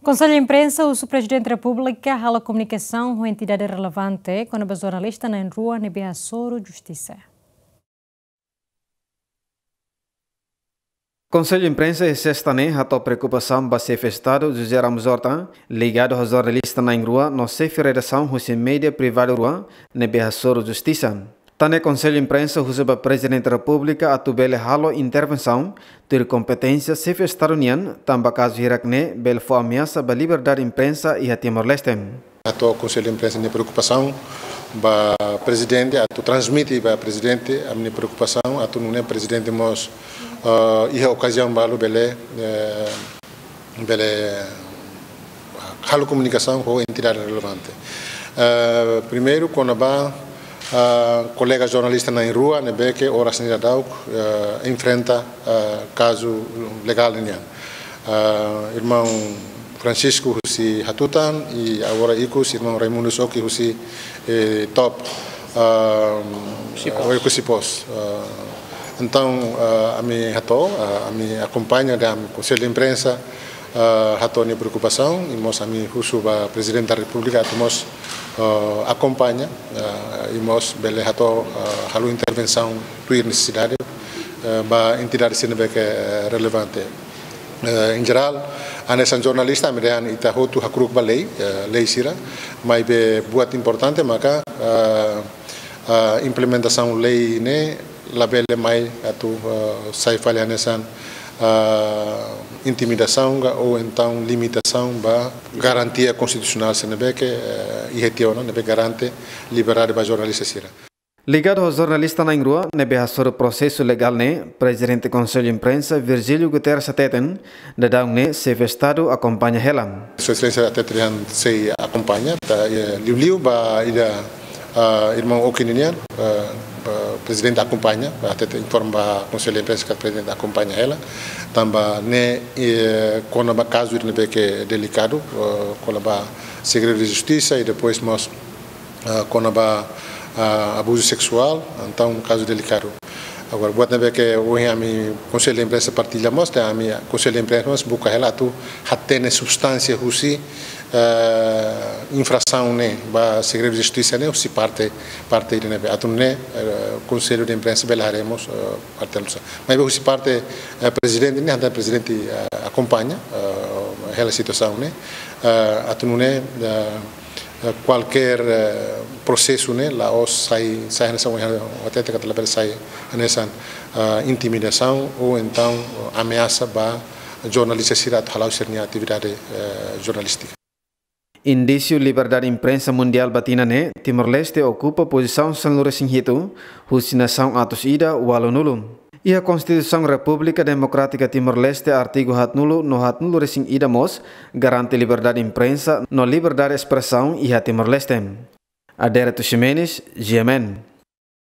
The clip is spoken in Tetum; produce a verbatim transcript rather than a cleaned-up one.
Konsellu Imprensa husu Prezidente Repúblika halo komunikasaun ho entidade relevante kona-ba jornalista na'in-rua ne'ebé hasoru justisa. Konsellu Imprensa iha sesta ne'e hato'o preokupasaun ba Xefe Estadu José Ramos Horta, ligadu ho jornalista na'in-rua no xefe redasaun husi média privadu rua ne'ebé hasoru justisa. Tan ne'e Konsellu Imprensa husu ba Prezidente Repúblika atu bele halo intervensaun tuir kompeténsia Xefe Estadu nian, tanba kazu hirak-ne'e bele fó ameasa ba liberdade imprensa iha Timor-Leste. Hato'o Konsellu Imprensa nia preokupasaun ba Prezidente, atu transmite ba Prezidente ami-nia preokupasaun, atu nune'e Prezidente mós, eh, iha okaziaun balu bele, eh, bele halo komunikasaun ho entidade relevante. Eh, primeiru, kona-ba, eh, kolega jornalista na'in-rua ne'ebé ke oras ne'e daudaun, eh, enfrenta, eh, kazu legál nian. Eh, irmaun Francisco husi Hatutan, i agora ikus irmaun Raimundo Oki husi, eh, Top, eh, Oekusi Post. Oekusi Post. Eh, entaun, eh, ami hato'o, eh, ami akompaña, dehan Konsellu Imprensa, eh, hato'o nia preokupasaun, i mós ami husu ba Prezidente da Repúblika atu mós, eh, akompaña, eh, i mós bele hato'o, eh, halo intervensaun tuir nesesidade, eh, ba entidade sira ne'ebé ke, eh, relevante. Eh, en jerál, hanesan jornalista, ami dehan ita hotu hakru'uk ba lei, eh, lei sira, maibé buat importante maka, eh, eh, implementasaun lei ne'e labele mai atu, eh, sai fali hanesan, eh, intimidasaun ka ou entaun limitasaun ba garantia konstitusionál sira ne'ebé ke, eh, iha tiha ona, ne'ebé garante liberdade ba jornalista sira. Ligadu ho jornalista na'in-rua ne'ebé hasoru prosesu legál ne'e, Prezidente Konsellu Imprensa Virgílio Guterres hateten, daudaun ne'e Xefe Estadu akompaña hela. Sua Exelénsia hateten dehan sei akompaña, ta, eh, liuliu ba ida, ah, irmaun Oki nian, eh, ba Prezidente akompaña, hateten informa ba Konsellu Imprensa katak Prezidente akompaña hela, tanba ne'e, eh, kona-ba kazu ne'ebé ke delikadu, eh, kona-ba segredu de justisa i depois mós, ah, kona-ba, ah, abuzu seksuál, entaun kazu delikadu. Agora, buat ne'ebé ke ohin ami Konsellu Imprensa partilla mós, dehan ami Konsellu Imprensa mós buka hela atu hatene substánsia husi, eh, infrasaun ne'e, ba segredu de justisa ne'e, husi parte, parte ida ne'ebé. Atu nune'e, eh, Konsellu de Imprensa bele haree mós, eh, parte alusa. Maibé husi parte, eh, Prezidente ne'e, entaun Prezidente, eh, akompaña, eh, hela situasaun ne'e, eh, atu nune'e, eh, eh, kualkér, eh, prosesu ne'e la'ós sai, sai hanesan ohin hateten katak labele sai hanesan, eh, intimidasaun ou entaun, eh, ameasa ba jornalista sira atu hala'o sira-nia atividade, eh, jornalístika. Indísiu liberdade imprensa mundiál ba tinan ne'e, Timor-Leste okupa pozisaun sanulu-resin-hitu, husi nasaun atus ida ualunulu. Iha Konstituisaun Repúblika Demokrátika Timor-Leste, artigu haatnulu no haatnulu-resin-ida mós garante liberdade imprensa no liberdade espresaun iha Timor-Leste. Adérito Ximenes, G M N.